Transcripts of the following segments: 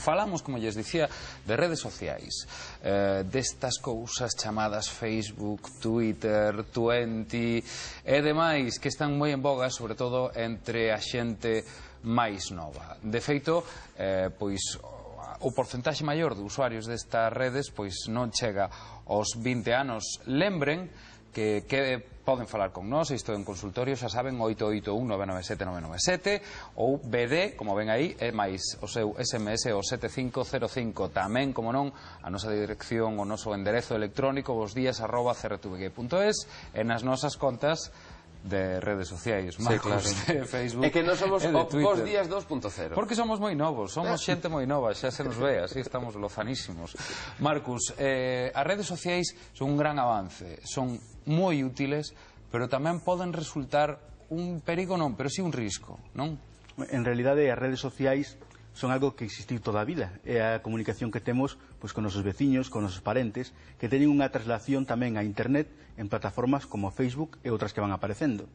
falamos, como lles dicía, de redes sociais, destas cousas chamadas Facebook, Twitter, Twenty e demais que están moi en boga, sobre todo entre a xente máis nova. De feito, pois o porcentaxe maior de usuarios destas redes pois non chega aos 20 anos. Lembren que poden falar con nós, isto en consultorio, xa saben, 881-997-997 ou BD, como ven aí, e máis o seu SMS o 7505. Tamén, como non, a nosa dirección, o noso enderezo electrónico bosdías@crtvg.es e nas nosas contas de redes sociais, Marcos, de Facebook e que non somos e de Twitter. Bos Días 2.0 porque somos moi novos, somos xente moi nova, xa se nos ve, así estamos lozanísimos. Marcos, as redes sociais son un gran avance, son moi útiles, pero tamén poden resultar un perigo, non, pero sí un risco, non? En realidade as redes sociais son algo que existiu toda a vida. É a comunicación que temos pois, con nosos veciños, con nosos parentes, que teñen unha traslación tamén a internet en plataformas como Facebook e outras que van aparecendo.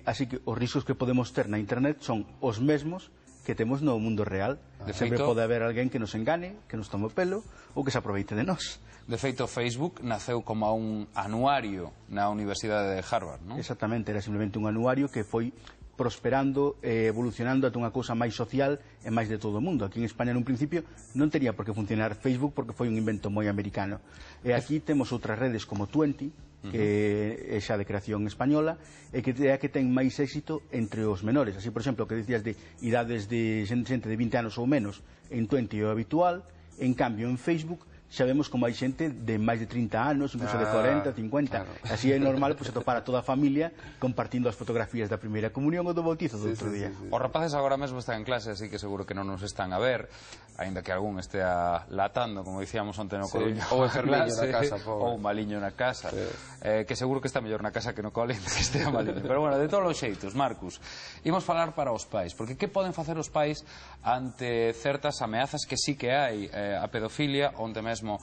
Así que os riscos que podemos ter na internet son os mesmos que temos no mundo real. Sempre pode haber alguén que nos engane, que nos tome o pelo ou que se aproveite de nós. De feito, Facebook naceu como un anuario na Universidade de Harvard, non? Exactamente, era simplemente un anuario que foi prosperando e evolucionando ata unha cousa máis social e máis de todo o mundo. Aquí en España, nun principio, non tería por que funcionar Facebook porque foi un invento moi americano. E aquí temos outras redes como Twenty, que é xa de creación española, e que é a que ten máis éxito entre os menores. Así, por exemplo, que dicías de idades de xente de 20 anos ou menos, en Twenty é o habitual, en cambio, en Facebook, xa vemos como hai xente de máis de 30 anos, incluso de 40, 50. Así é normal pues, atopar a toda a familia compartindo as fotografías da primeira comunión ou do bautizo do outro día. Os rapaces agora mesmo están en clase, así que seguro que non nos están a ver, aínda que algún estea latando, como dicíamos onte no Coruño, ou enfermiño na casa, ou maliño na casa, que seguro que está mellor na casa que no cole que estea maliño. Pero bueno, de todos os xeitos, Marcos, imos falar para os pais, porque que poden facer os pais ante certas ameazas que sí que hai, a pedofilia, onde mesmo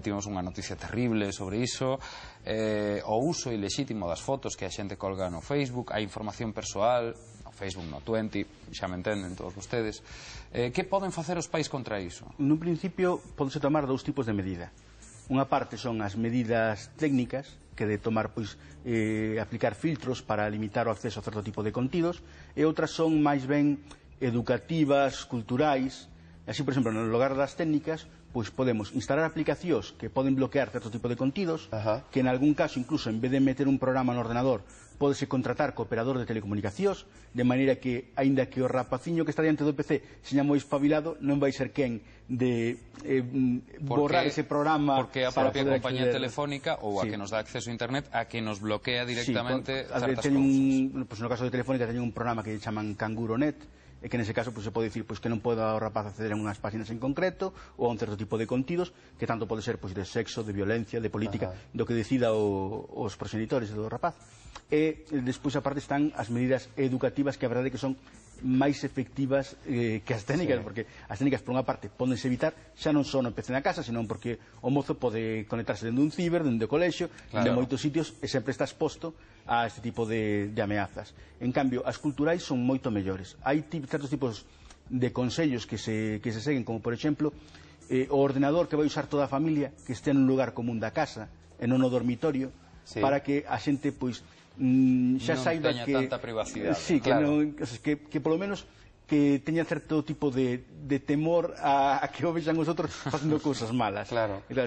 tivemos unha noticia terrible sobre iso, o uso ilexítimo das fotos que a xente colga no Facebook, a información persoal no Facebook, no Twenty, xa me entenden todos vostedes. Que poden facer os pais contra iso? Nun principio podese tomar dous tipos de medida. Unha parte son as medidas técnicas, que de tomar, pois, aplicar filtros para limitar o acceso a certo tipo de contidos, e outras son máis ben educativas, culturais. Así, por exemplo, no lugar das técnicas, pois podemos instalar aplicacións que poden bloquear certo tipo de contidos, que en algún caso, incluso, en vez de meter un programa no ordenador, pódese contratar co operador de telecomunicacións, de maneira que, aínda que o rapaciño que está diante do PC seña moi espabilado, non vai ser quen de borrar ese programa. Porque a propia compañía telefónica ou a que nos dá acceso a internet a que nos bloquea directamente certas cousas. No caso de Telefónica teñen un programa que chaman CanguroNet, e que nese caso se pode dicir que non pode o rapaz acceder a unhas páxinas en concreto ou a un certo tipo de contidos que tanto pode ser de sexo, de violencia, de política, do que decida os proxenitores do rapaz. E despois aparte están as medidas educativas que a verdade que son máis efectivas que as técnicas, porque as técnicas por unha parte pódense evitar xa non só no PC na casa, senón porque o mozo pode conectarse dentro dun ciber, dentro do colexio, de moitos sitios, e sempre está exposto a este tipo de ameazas. En cambio, as culturais son moito mellores. Hai certos tipos de consellos que se seguen, como por exemplo o ordenador que vai usar toda a familia que este nun lugar común da casa e non no dormitorio, para que a xente pois xa saiba que non teña tanta privacidade. Sí, que polo menos que teña certo tipo de temor a que o vexan os outros facendo cousas malas.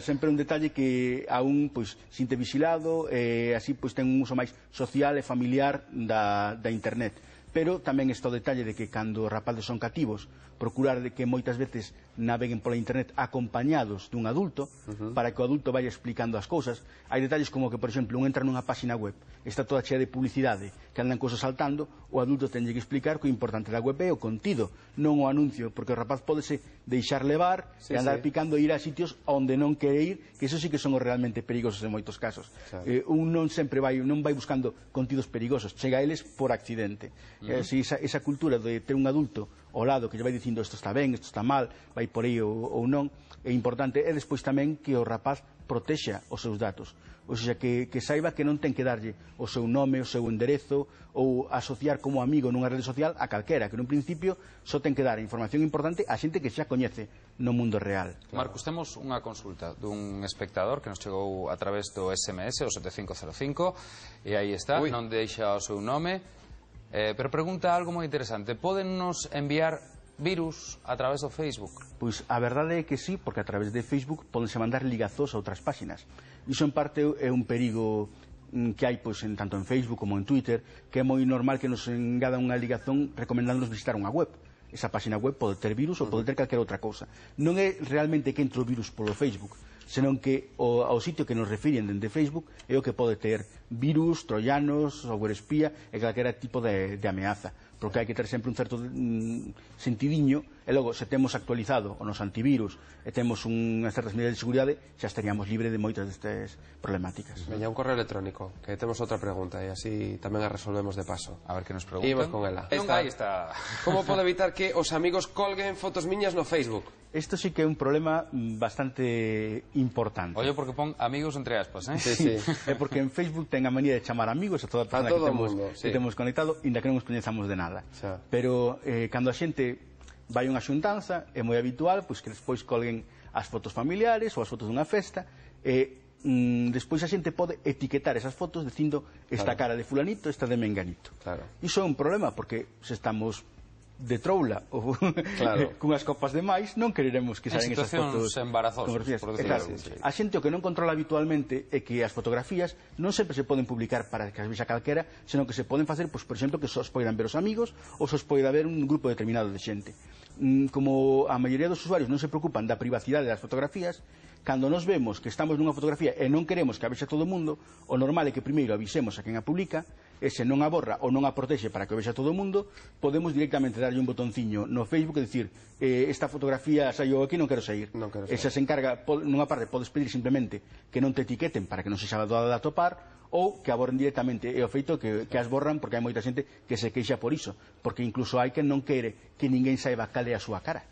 Sempre un detalle que aún sinte vigilado, así ten un uso máis social e familiar da internet. Pero tamén está o detalle de que cando os rapaces son cativos, procurar de que moitas veces naveguen pola internet acompañados dun adulto, para que o adulto vaya explicando as cousas. Hai detalles como que, por exemplo, un entra nunha páxina web, está toda chea de publicidade, que andan cousas saltando, o adulto tenlle que explicar que o importante da web é o contido, non o anuncio, porque o rapaz pódese deixar levar e andar picando e ir a sitios onde non quere ir, que eso sí que son os realmente perigosos en moitos casos. Un non sempre vai buscando contidos perigosos, chega a eles por accidente. Esa cultura de ter un adulto ao lado que lle vai dicindo isto está ben, isto está mal, vai por aí ou non, é importante. E despois tamén que o rapaz protexa os seus datos, ou seja, que saiba que non ten que darlle o seu nome, o seu enderezo ou asociar como amigo nunha rede social a calquera, que nun principio só ten que dar información importante a xente que xa coñece no mundo real. Marcos, temos unha consulta dun espectador que nos chegou a través do SMS, o 7505, e aí está, non deixa o seu nome, pero pregunta algo moi interesante. Pódennos enviar virus a través do Facebook? Pois a verdade é que sí, porque a través de Facebook pódense mandar ligazos a outras páxinas. Iso en parte é un perigo que hai tanto en Facebook como en Twitter, que é moi normal que nos engada unha ligazón recomendándonos visitar unha web. Esa páxina web pode ter virus ou pode ter calquera outra cousa. Non é realmente que entre o virus polo Facebook, senón que ao sitio que nos refiren dende Facebook é o que pode ter virus, troyanos, software espía e calquera tipo de ameaza, porque hai que ter sempre un certo sentidiño, e logo, se temos actualizado o noso antivirus e temos unhas certas medidas de seguridade, xa estaríamos libre de moitas destas problemáticas. Veña, un correo electrónico, que temos outra pregunta e así tamén a resolvemos de paso. A ver que nos preguntan. Imos con ela. Aí está. Como pode evitar que os amigos colguen fotos miñas no Facebook? Isto sí que é un problema bastante importante. Oye, porque pon amigos entre aspas, Sí. É porque en Facebook ten a manía de chamar amigos a toda a persona que temos conectado, inda que non nos coñezamos de nada. Pero cando a xente vai unha xuntanza, é moi habitual que despois colguen as fotos familiares ou as fotos dunha festa, e despois a xente pode etiquetar esas fotos dicindo esta cara de fulanito, esta de menganito. Iso é un problema, porque se estamos de troula ou cunhas copas de máis, non quereremos que saen esas fotos embarazosas, por decirlo así. A xente o que non controla habitualmente é que as fotografías non sempre se poden publicar para que as vexa calquera, senón que se poden facer, por exemplo, que só os poidan ver os amigos ou só os poida ver un grupo determinado de xente. Como a maioría dos usuarios non se preocupan da privacidade das fotografías, cando nos vemos que estamos nunha fotografía e non queremos que a vexa todo o mundo, o normal é que primeiro avisemos a quen a publica, e se non a borra ou non a protexe para que o vexa todo o mundo, podemos directamente darlle un botonciño no Facebook e dicir esta fotografía saiu aquí, non quero sair. E se encarga, nunha parte podes pedir simplemente que non te etiqueten para que non se xa doada de atopar, ou que a borren directamente. É o feito que as borran, porque hai moita xente que se queixa por iso, porque incluso hai quen non quere que ninguén saiba cal é a súa cara.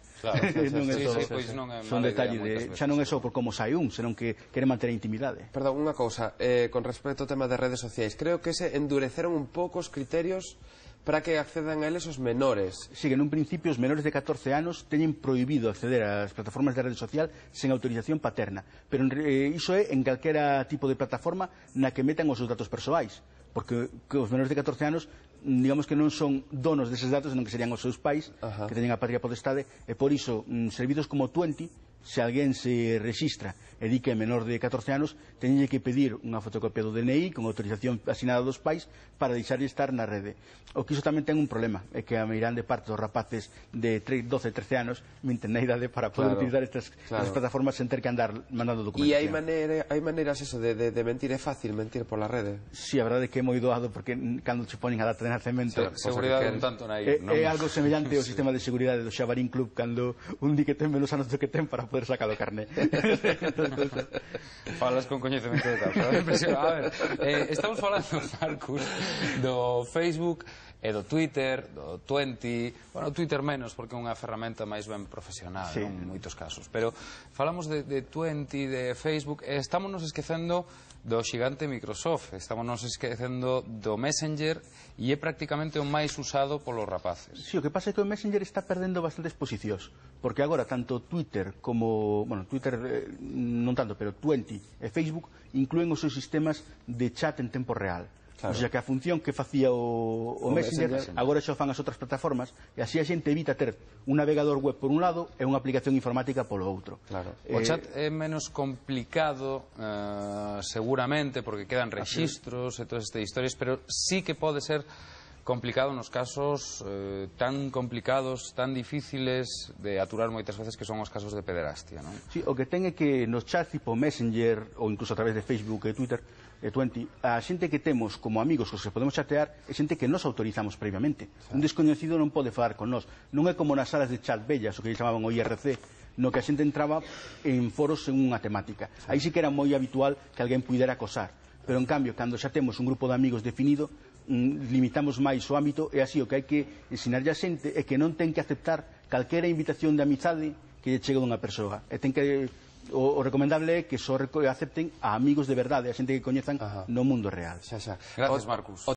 Son detalles xa non é só por como sai senón que quere manter a intimidade. Perdón, unha cousa, con respecto ao tema de redes sociais, creo que se endureceron un pouco os criterios para que accedan a eles os menores. Sí, que nun principio os menores de 14 anos teñen prohibido acceder ás plataformas de rede social sen autorización paterna, pero iso é en calquera tipo de plataforma na que metan os seus datos persoais, porque os menores de 14 anos digamos que non son donos deses datos, senón que serían os seus pais que teñen a patria potestade, e por iso servidos como 20, se alguén se rexistra e di que é menor de 14 anos, teñenlle que pedir unha fotocopia do DNI con autorización asinada dos pais para deixarlle estar na rede. O que iso tamén ten un problema, é que a meirande parte dos rapaces de 12, 13 anos minten na idade para poder utilizar estas plataformas sen ter que andar mandando documentación. E hai maneiras eso de mentir, é fácil mentir pola rede? Si, a verdade é que é moi doado, porque cando che ponen a data de nacemento seguridade un tanto naive. É algo semellante ao sistema de seguridade do Xabarín Club, cando un di que ten menos anos do que ten para poder sacar o carné. Falas con coñecemento de causa. A ver, estamos falando, Marcus, do Facebook e do Twitter, do 20, bueno, Twitter menos, porque é unha ferramenta máis ben profesional en moitos casos, pero falamos de 20, de Facebook, e estamos nos esquecendo do xigante Microsoft, estamos nos esquecendo do Messenger, e é prácticamente o máis usado polos rapaces. Si, o que pasa é que o Messenger está perdendo bastantes posicións, porque agora tanto Twitter como, bueno, Twitter non tanto, pero 20 e Facebook inclúen os seus sistemas de chat en tempo real. O sea, que a función que facía o Messenger agora xa fan as outras plataformas, e así a xente evita ter un navegador web por un lado e unha aplicación informática polo outro. O chat é menos complicado seguramente porque quedan rexistros e todas estas historias, pero sí que pode ser complicado nos casos tan complicados, tan difíciles de aturar moitas veces, que son os casos de pederastia, non? Sí, o que ten é que nos chats tipo Messenger ou incluso a través de Facebook e Twitter e 20, a xente que temos como amigos que se podemos chatear é xente que nos autorizamos previamente. Un descoñecido non pode falar con nós. Non é como nas salas de chat bellas, o que chamaban o IRC, no que a xente entraba en foros en unha temática. Aí sí que era moi habitual que alguén pudera acosar. Pero en cambio, cando xa temos un grupo de amigos definido, limitamos máis o ámbito, e así o que hai que ensinarlle a xente é que non ten que aceptar calquera invitación de amizade que lle chegue dunha persoa, e ten que o recomendable é que só acepten a amigos de verdade, a xente que coñezan no mundo real. Gracias, Marcus.